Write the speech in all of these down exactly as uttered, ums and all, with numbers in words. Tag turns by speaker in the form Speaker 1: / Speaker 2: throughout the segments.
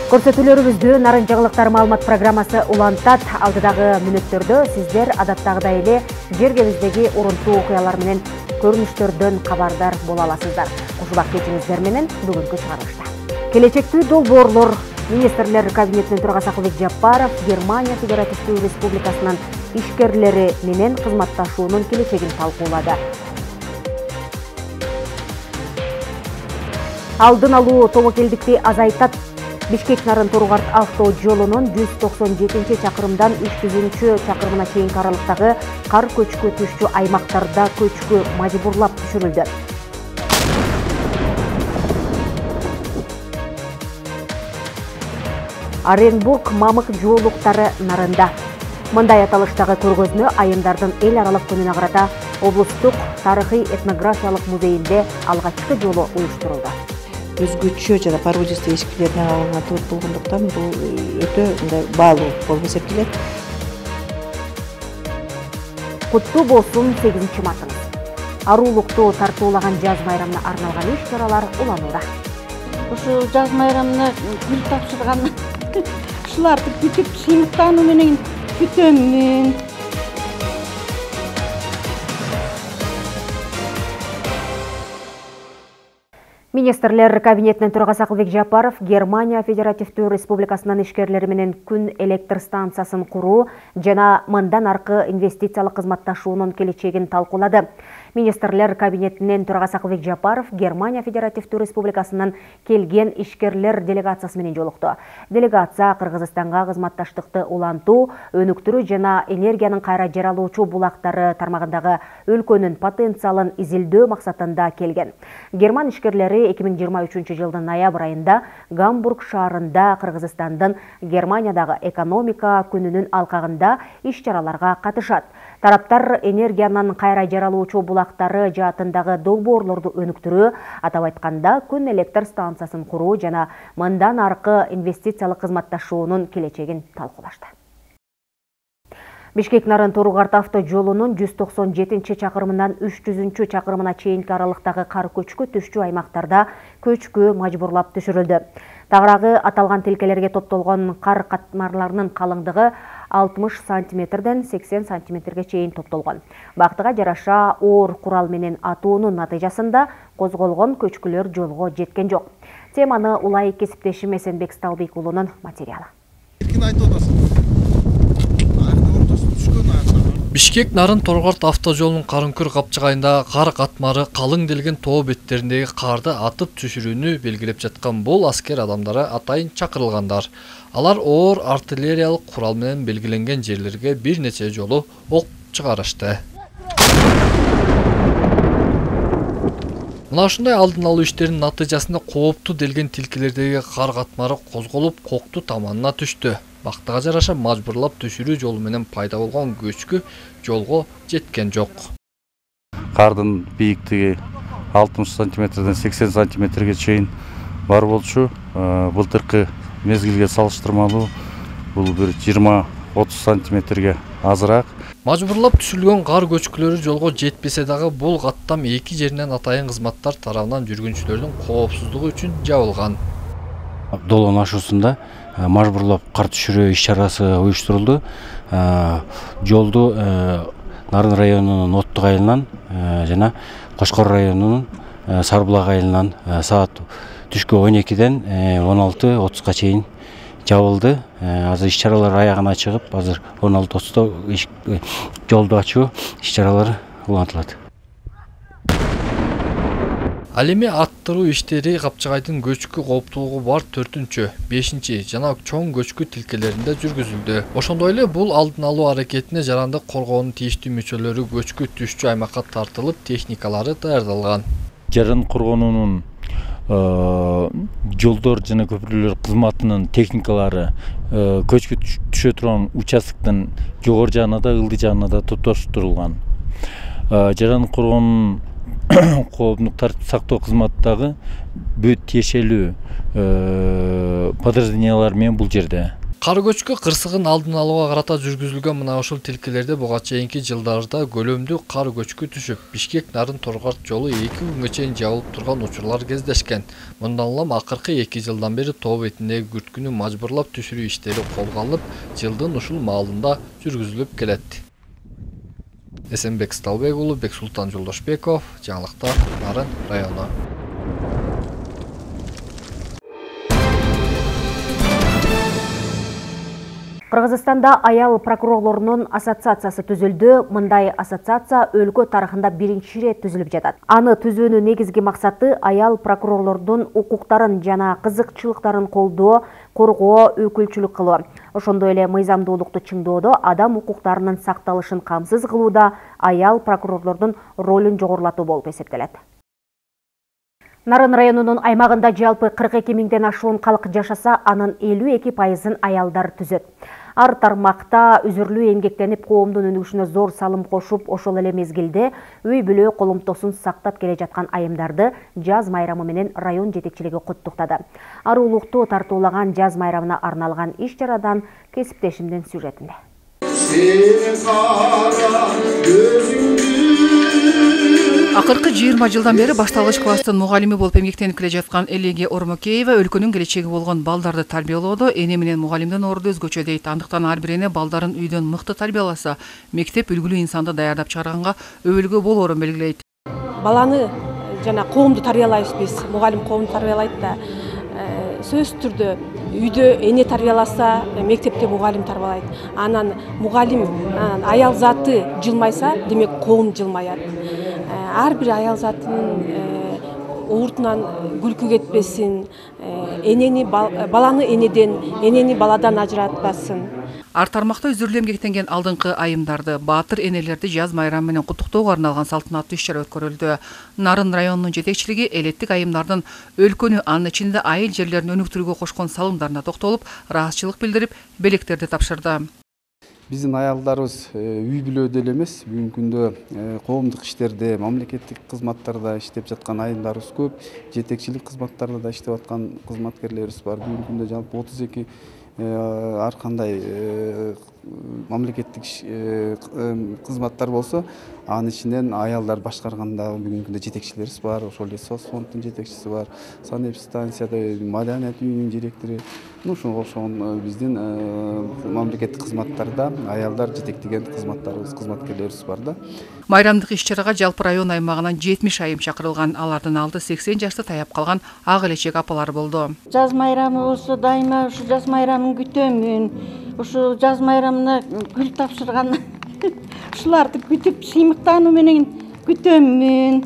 Speaker 1: Көрсөтүүлөрүбүздү Нарын жаңылыктар маалымат программасы улантат. Алдыдагы мүнөттөрдө сиздер адаттагыдай эле жергебиздеги урунтуу окуялар менен көрүнүштөрдөн кабардар боло аласыздар. Ушул кетиңиздер менен бүгүнкү чыгарылышта. Келечектүү долбоорлор Министрлер кабинетинин төрагасы Акылбек Жапаров Германия Федеративдүү Республикасынын ишкерлери менен кызматташуунун келечегин талкуулады. Алдын алуу тобокелдикти азайтат. Бишкек-Нарын Торгорт авто жолунун жүз токсон жетинчи чакырымдан үч жүзүнчү чакырымына чейинки аралыктагы кар көчкү түшчү аймактарда көчкү мажбурлап түшүрүлдү. Оренбург мамык жоолуктары нарында. Мындай аталыштагы көргөзмө айымдардын эл аралык күнүнө карата облустук тарыхый этнографиялык музейинде алгачкы жолу уюштурулду.
Speaker 2: Өзгөчө жана породистый эшиктеринен алынган торт болгондуктан бул өтө мындай баалуу болуп эсептелет.
Speaker 1: Куттуу болсун сегизинчи мартыңыз. Аруулукту тартуулаган жаз майрамына арналган иш-чаралар уланууда.
Speaker 3: Ушу жаз майрамына гүл тапшырган ушуларды күтүп сыймыктануу менен күтөмүн.
Speaker 1: Министрлер кабинетинин төрагасы Акылбек Жапаров Германия Федеративдүү Республикасынын ишкерлери менен күн электр станциясын куруу жана мындан аркы инвестициялык кызматташуунун келечегин талкуулады. Министрлер кабинетинин төрагасы Акылбек Жапаров Германия Федеративдүү Республикасынын келген ишкерлер делегациясы менен жолукту. Делегация Кыргызстанга кызматташтыкты улантуу, өнүктүрүү жана энергиянын кайра жаралуучу булактары тармагындагы өлкөнүн потенциалын изилдөө максатында келген. Герман ишкерлери эки миң жыйырма үчүнчү жылдын ноябрь айында Гамбург шаарында Кыргызстандын Германиядагы экономика күнүнүн алкагында иш-чараларга катышат. Тараптар энергиянын кайра жаралуучу булактары жаатындагы долбоорлорду өнүктүрүү, атап айтканда күн электр станциясын куруу жана мындан аркы инвестициялык кызматташуунун келечегин талкуулашты. Бишкек-Нарын Торгорт авто жолунун жүз токсон жетинчи чакырымынан үч жүзүнчү чакырымына чейинки аралыктагы кар көчкү түшчү аймактарда көчкү мажбурлап түшүрүлдү. Тагыраагы аталган тилкелерге топтолгон кар катмарларынын калыңдыгы алтымыш сантиметрден сексен сантиметрге чейин топтолгон. Бактыга жараша оор курал менен атуунун натыйжасында козголгон көчкүлөр жолго жеткен жок. Теманы улай кесиптешим Эсенбек Сталбек уулунун материалы.
Speaker 4: Бишкек-Нарын Торгорт авто жолунун Карынкүр капчыгайында кар катмары калың делген тоо беттериндеги карды атып түшүрүүнү белгилеп жаткан бул аскер адамдары атайын чакырылгандар. Алар оор артиллериялык курал менен белгиленген жерлерге бир нече жолу ок чыгарышты. Мына ушундай алдын алуу иштеринин натыйжасында кооптуу делген тилкелердеги кар катмары козголуп, кокту таманына түштү. Бактыга жараша мажбурлап түшүрүү жолу менен пайда болгон көчкү жолго жеткен жок.
Speaker 5: Кардын бийиктиги алтымыш сантиметрден сексен сантиметрге чейин бар болчу. Былтыркы мезгилге салыштырмалуу бул бир жыйырма отуз сантиметрге азыраак.
Speaker 4: Мажбурлап түшүрүлгөн кар көчкүлөрү жолго жетпесе дагы бул каттам эки жеринен атайын кызматтар тарабынан жүргүнчүлөрдүн коопсуздугу үчүн жабылган.
Speaker 6: Долоон ашуусунда мажбурлап кар түшүрүү иш-чарасы уюштурулду. Жолду Нарын районунун Оттук айылынан жана Кошкор районунун Сарбулак айылынан саат түшкү он экиден он алты отузга чейин жабылды. Азыр иш-чаралар аягына чыгып, азыр он алты отузда жолду ачуу иш-чаралары улантылат.
Speaker 4: Ал эми аттыруу иштери Капчыгайдын көчкү кооптуулугу бар төртүнчү, бешинчи жана чоң көчкү тилкелеринде жүргүзүлдү. Ошондой эле бул алдын алуу аракетине жарандык коргоонун тийиштүү мүчөлөрү көчкү түшчү аймакка тартылып, техникалары даярдалган.
Speaker 7: Жарандык коргоонунун жолдор жана көпүрлөр кызматынын техникалары көчкү түшө турган участоктун жогору жагына да, ылдый жагына да топтоштурулган. Жарандык коргоонунун коомдук тартип сактоо кызматтагы бүт тиешелүү подразделениялар менен бул жерде.
Speaker 4: Кар көчкү кырсыгын алдын алууга карата жүргүзүлгөн мына ушул тилкелерде буга чейинки жылдарда көлөмдүү кар көчкү түшүп, Бишкек Нарын Торгорт жолу эки күнгө чейин жабылып турган учурлар кездешкен. Мындан улам акыркы эки жылдан бери тоо бетиндеги күрткүнү мажбурлап түшүрүү иштери колго алынып, жылдын ушул маалында жүргүзүлүп келет. Эсенбек Сталбек уулу, Бексултан Жолдошбеков, жаңылыктар, Нарын району.
Speaker 1: Кыргызстанда аял прокурорлорунун ассоциациясы түзүлдү. Мындай ассоциация өлкө тарыхында биринчи ирет түзүлүп жатат. Аны түзүүнүн негизги максаты аял прокурорлордун укуктарын жана кызыкчылыктарын колдоо, коргоо, өкүлчүлүк кылуу. Ошондой эле мыйзамдуулукту чыңдоодо, адам укуктарынын сакталышын камсыз кылууда аял прокурорлордун ролун жогорулатуу болуп эсептелет. Нарын районунун аймагында жалпы кырк эки миңден ашуун калк жашаса, анын элүү эки пайызын аялдар түзөт. Ар тармакта үзүрлүү эмгектенип, коомдун өнүгүшүнө зор салым кошуп, ошол эле мезгилде үй бүлө колумтосун сактап келе жаткан айымдарды жаз майрамы менен район жетекчилиги куттуктады. Аруулукту тартуулаган жаз майрамына арналган иш-чарадан кесиптешимдин сюжетинде.
Speaker 8: Акыркы жыйырма жылдан бери башталгыч класстын мугалими болуп эмгектенип келе жаткан Элеге Ормокеева өлкөнүн келечеги болгон балдарды тарбиялоодо эне менен мугалимдин орду өзгөчө дейт. Андыктан ар бир эне балдарын үйдөн мыкты тарбияласа, мектеп үлгүлүү инсанды даярдап чыгарганга өбөлгө болоорун белгилейт.
Speaker 9: Баланы жана коомду тарбиялайбыз биз, мугалим коомду тарбиялайт да. Сөзсүз түрдө үйдө эне тарбияласа, мектепте мугалим тарбиялайт. Анан мугалим аял заты жылмайса, демек коом жылмаят. Ар бир аял затынын ууртунан күлкү кетпесин, энени баланы энеден, энени баладан ажыратпасын.
Speaker 8: Ар тармакта үзүрлүү эмгектенген алдыңкы айымдарды, баатыр энелерди жаз майрамы менен куттуктоого арналган салтанаттуу иш-чара өткөрүлдү. Нарын районунун жетекчилиги элеттик айымдардын өлкөнү, анын ичинде айыл жерлерин өнүктүрүүгө кошкон салымдарына токтолуп, ыраазычылык билдирип, белектерди тапшырды.
Speaker 10: Биздин аялдарыбыз үй бүлөдө эле эмес, бүгүнкү күндө коомдук иштерде, мамлекеттик кызматтарда иштеп жаткан айымдарыбыз көп, жетекчилик кызматтарда да иштеп аткан кызматкерлерибиз бар. Бүгүнкү күндө жалпы отуз эки ар кандай мамлекеттик кызматтар болсо, анын ичинен аялдар башкарганда бүгүнкү күндө жетекчилерибиз бар. Ошол эле соцфонддун жетекчиси бар, санэпидстанцияда маданият үйүнүн директору. Ушуга окшогон биздин мамлекеттик кызматтарда аялдар жетектеген кызматтарыбыз, кызматкерлерибиз бар да.
Speaker 8: Майрамдык иш-чарага жалпы район аймагынан жетимиш айым чакырылган. Алардын алды сексен жашты таяп калган ак элечек апалар болду.
Speaker 3: Жаз майрамы болсо дайыма ушу жаз майрамын күтөмүн. Ушу жаз майрамына гүл тапшырган ушуларды күтүп, сыймыктануу менен күтөмүн.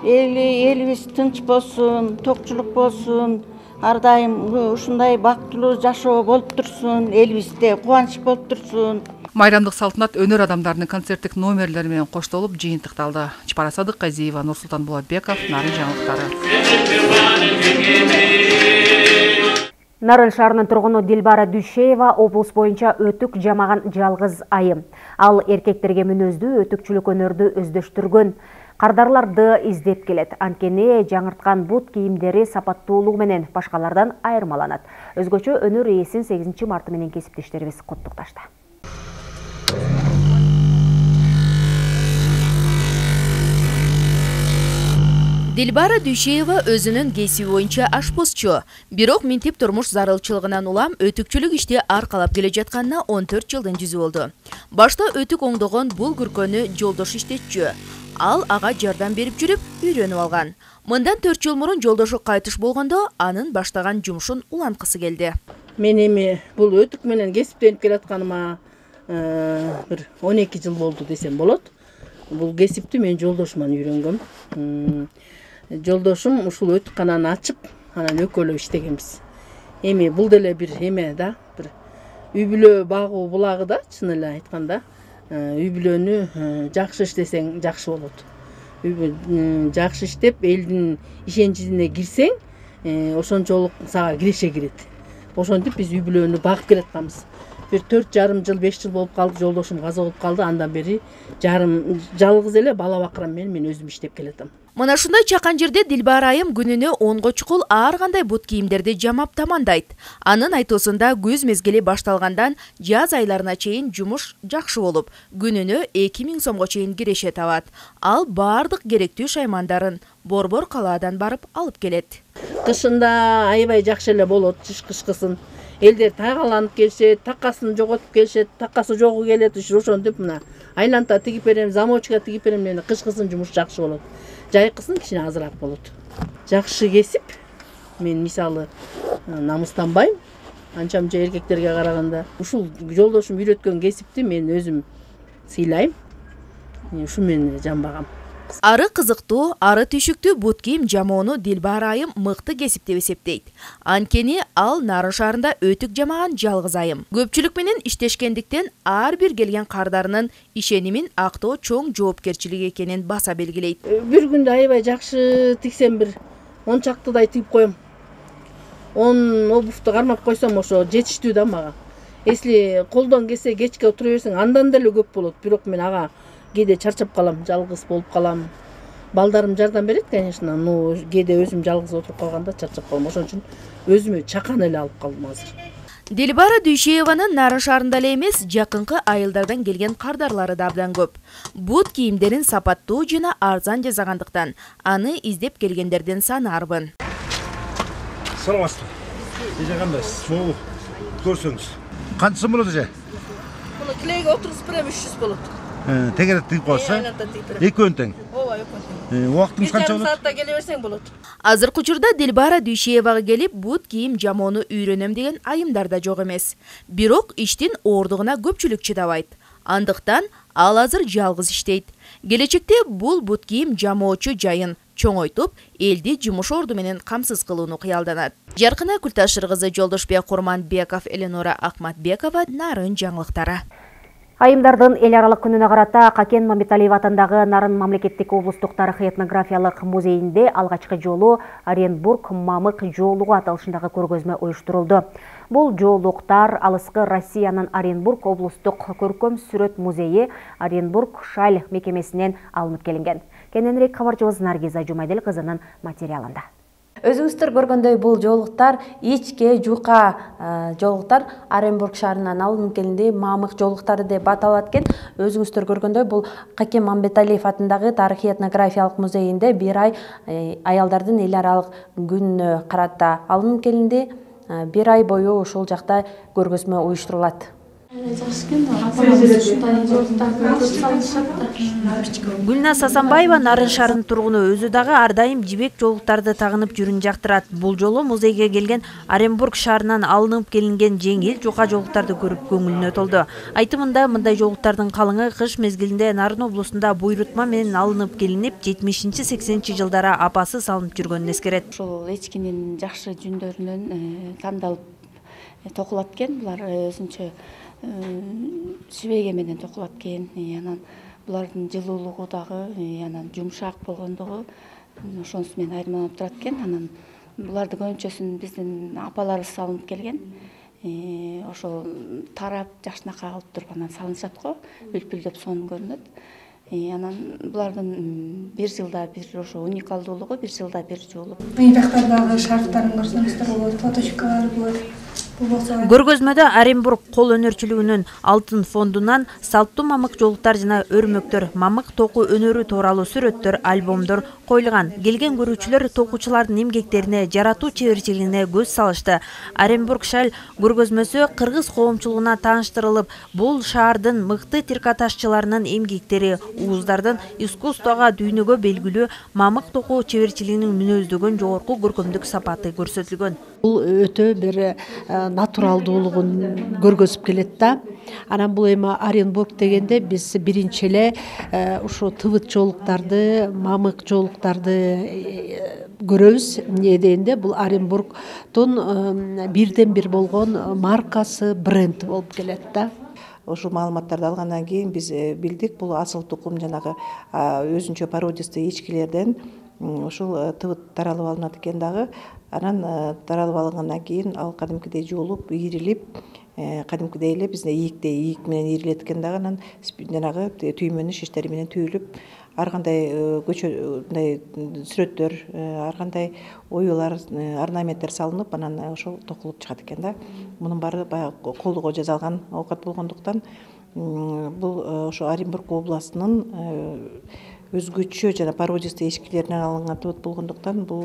Speaker 3: Элибиз тынч болсун, токчулук болсун. Ар дайым ушундай бактылуу жашоо болуп турсун, элибизде кубанч болуп турсун.
Speaker 8: Майрамдык салтанат өнөр адамдарынын концерттик номерлери менен коштолуп жыйынтыкталды. Чапара Садыкказиева, Нурсултан Булатбеков, Нарын жаңылыктары.
Speaker 1: Нарын шаарынын тургуну Дилбара Дүйшеева облус боюнча өтүк жамаган жалгыз айым. Ал эркектерге мүнөздүү өтүкчүлүк өнөрдү өздөштүргөн. Кардарларды издеп келет. Анткени жаңырткан бут кийимдери сапаттуулугу менен башкалардан айырмаланат. Өзгөчө өнөр ээсин сегизинчи марты менен кесиптештерибиз куттукташты.
Speaker 11: Дилбара Дүйшеева өзүнүн кесиби боюнча ашпозчу. Бирок минтип турмуш зарылчылыгынан улам өтүкчүлүк ишти аркалап келе жатканына он төрт жылдын жүзү болду. Башта өтүк оңдогон бул күркөнү жолдош иштетчү. Ал ага жардам берип жүрүп, үйрөнүп алган. Мындан төрт жыл мурун жолдошу кайтыш болгондо, анын баштаган жумушун уланткысы келди.
Speaker 9: Мен эми бул өтүк менен кесиптенип келатканыма бир он эки жыл болду десем болот. Бул кесипти мен жолдошуман үйрөнгөм. Жолдошум ушул өтүккананы ачып, анан экөөлөп иштегенбиз. Эми бул деле бир эме да, бир үй бүлө багуу булагы да, чын эле айтканда. Үй бүлөнү жакшы иштесең жакшы болот. Жакшы иштеп, элдин ишеничине кирсең, ошончолук сага киреше кирет. Ошентип биз үй бүлөнү багып келатканбыз. Бир төрт жарым жыл, беш жыл болуп калды, жолдошум каза болуп калды. Андан бери жарым жалгыз эле бала бакырам менен мен өзүм иштеп келатам.
Speaker 11: Мына ушундай чакан жерде Дилбара айым күнүнө онго чукул ар кандай бут кийимдерди жамап тамандайт. Анын айтуусунда күз мезгили башталгандан жаз айларына чейин жумуш жакшы болуп, күнүнө эки миң сомго чейин киреше табат. Ал бардык керектүү шаймандарын Борбор калаадан барып алып келет.
Speaker 9: Кышында аябай жакшы эле болот, жыш кышкысын. Элдер тайгаланып келишет, такасын жоготуп келишет, такасы жогу келет, ошентип мына айланта тигип берем, замочка тигип берем дегенде кышкысын жумуш жакшы болот. Жайкысын кичине азыраак болот. Жакшы кесип. Мен мисалы намыстанбайм. Анча мынча эркектерге караганда. Ушул жолдошум үйрөткөн кесипти мен өзүм сыйлайм. Ушу мен жамбагам.
Speaker 11: Ары кызыктуу, ары түйшүктүү бут кийим жамоону Дилбара айым мыкты кесип деп эсептейт. Анткени ал Нарын шаарында өтүк жамаган жалгыз айым. Көпчүлүк менен иштешкендиктен ар бир келген кардарынын ишенимин актоо чоң жоопкерчилик экенин баса белгилейт.
Speaker 9: Бир күндө аябай жакшы тиксем бир он чактыдай тигип коем. он обувду кармап койсом ошо жетиштүү да мага. Если колдон келсе кечке отура берсең андан деле көп болот. Бирок мен ага кээде чарчап калам, жалгыз болуп калам. Балдарым жардам берет, конечно, но кээде өзүм жалгыз отуруп калганда чарчап калам. Ошон үчүн өзүмө чакан эле алып калдым азыр.
Speaker 11: Дилбара Дүйшееванын Нарын шаарында эле эмес, жакынкы айылдардан келген кардарлары да абдан көп. Бут кийимдерин сапаттуу жана арзан жасагандыктан аны издеп келгендердин саны арбын.
Speaker 12: Саламатсызбы? Эже кандайсыз? Могу көрсөңүз. Канчасы болот эже?
Speaker 9: Муну килейге отургузуп берем, үч жүз болот.
Speaker 12: Тегерек тигип коесуз? Экөөнү тең.
Speaker 9: Ооба, экөөнү.
Speaker 12: Убактыңыз канча болот?
Speaker 9: Саатта келе берсең болот.
Speaker 11: Азыркы учурда Дилбара Дүйшеевага келип, бут кийим жамоону үйрөнөм деген айымдар да жок эмес. Бирок иштин оордугуна көпчүлүк чыдабайт. Андыктан ал азыр жалгыз иштейт. Келечекте бул бут кийим жамоочу жайын чоңойтуп, элди жумуш орду менен камсыз кылууну кыялданат. Жаркына Күлташыр кызы, Жолдошбек Курманбеков, Эленора Акматбекова, Нарын жаңылыктары.
Speaker 1: Айымдардын эл аралык күнүнө карата Какен Мамбеталиев атындагы Нарын мамлекеттик облустук тарыхый этнографиялык музейинде алгачкы жолу Оренбург мамык жоолугу аталышындагы көргөзмө уюштурулду. Бул жоолуктар алыскы Россиянын Оренбург облустук көркөм сүрөт музейи Оренбург Шаль мекемесинен алынып келинген. Кененирээк кабарчыбыз Наргиза Жумайдел кызынын материалында.
Speaker 13: Өзүңүздөр көргөндөй бул жоолуктар ичке жука жоолуктар Оренбург шаарынан алынып келинди, мамык жоолуктары деп аталат экен. Өзүңүздөр көргөндөй бул Какен Мамбеталиев атындагы тарыхый этнографиялык музейинде бир ай аялдардын эл аралык күнүнө карата алынып келинди. Бир ай бою ушул жакта көргөзмө уюштурулат. Гүлназ Асанбаева Нарын шаарынын тургуну, өзү дагы ар дайым жибек жоолуктарды тагынып жүрүн жактырат. Бул жолу музейге келген Оренбург шаарынан алынып келинген жеңил жука жоолуктарды көрүп көңүлүнө толду. Айтымында мындай жоолуктардын калыңы кыш мезгилинде Нарын облусунда буйрутма менен алынып келинип, жетимишинчи сексенинчи жылдары апасы салынып жүргөнүн эскерет.
Speaker 14: Ошол эчкинин жакшы жүндөрүнөн тандалып токулат экен. Булар өзүнчө жибеге менен токулат экен. Анан булардын жылуулугу дагы, анан жумшак болгондугу ошонусу менен айырмаланып турат экен. Анан буларды көбүнчөсүн биздин апаларыбыз салынып келген. Ошол тарап жакшынакай алып туруп анан салынышат го, үлпүлдөп сонун көрүнөт. Анан булардын бир жылда бир ошо уникалдуулугу бир жылда бир жолу.
Speaker 15: Ыйрактардагы шарфтарын көрсөңүздөр болот, фоточкалары болот.
Speaker 13: Көргөзмөдө Оренбург кол өнөрчүлүгүнүн алтын фондунан салттуу мамык жоолуктар жана өрмөктөр, мамык току өнөрү тууралуу сүрөттөр, альбомдор коюлган. Келген көрүүчүлөр токуучулардын эмгектерине, жаратуу чеберчилигине көз салышты. Оренбург Шаль көргөзмөсү кыргыз коомчулугуна тааныштырылып, бул шаардын мыкты тиркаташчыларынын эмгектери, ууздардын искусствого дүйнөгө белгилүү мамык току чеберчилигинин мүнөздөгөн жогорку көркөмдүк сапаты көрсөтүлгөн.
Speaker 16: Бул өтө бир натуралдуулугун көргөзүп келет да. Анан бул эми Оренбург дегенде биз биринчи эле ушу тыбыт жоолуктарды, мамык жоолуктарды көрөбүз. Эмне дегенде бул Оренбургдун бирден бир болгон маркасы, бренди болуп келет да.
Speaker 2: Ошол маалыматтарды алгандан кийин биз билдик, бул асыл тукум жанагы өзүнчө породистый эчкилерден ушул тыбыт таралып алынат экен дагы. Анан таралып алынгандан кийин ал кадимкидей жуулуп, ийрилип, кадимкидей эле бизде ийикте ийик менен ийрилет экен дагы. Анан жанагы түймөнү шиштери менен түйүлүп, ар кандай көчө мындай сүрөттөр, ар кандай оюлар, орнаменттер салынып, анан ошол токулуп чыгат экен да. Мунун баары баягы колго жасалган оокат болгондуктан бул ошо Оренбург областынын өзгөчө жана породистый эчкилеринен алынган тыбыт болгондуктан бул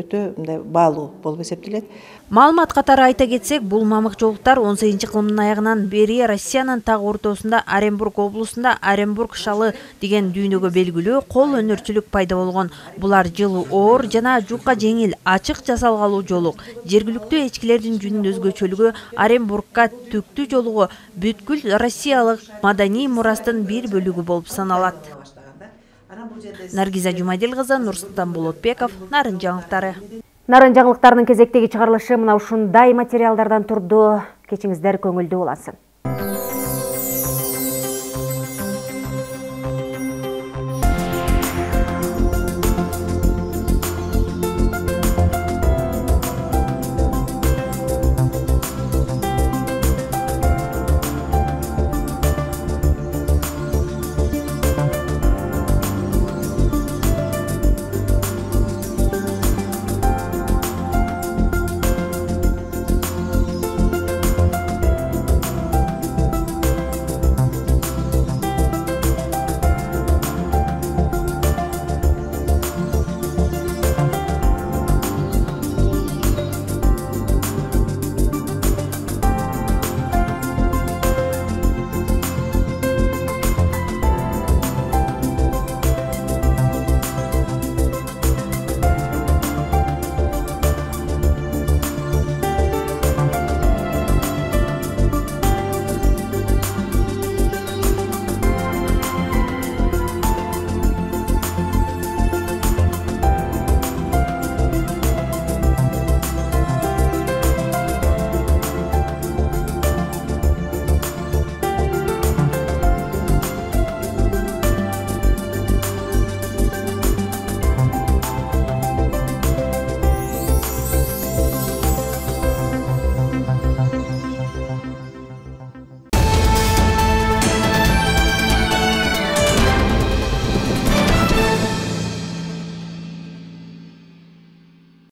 Speaker 2: өтө мындай баалуу болуп эсептелет.
Speaker 13: Маалымат катары айта кетсек, бул мамык жолуктар он сегизинчи кылымдын аягынан бери Россиянын так ортосунда Оренбург облусунда Оренбург шалы деген дүйнөгө белгилүү кол өнөрчүлүк пайда болгон. Булар жылуу оор жана жука жеңил, ачык жасалгалуу жолук. Жергиликтүү эчкилердин жүнүн өзгөчөлүгү Оренбургка түктүү жолугу бүткүл россиялык маданий мурастын бир бөлүгү болуп саналат. Наргиза Жумадил кызы, Нурсултан Болотбеков, Нарын жаңылыктары.
Speaker 1: Нарын жаңылыктарынын кезектеги чыгарылышы мына ушундай материалдардан турду. Кечиңиздер көңүлдүү боласın.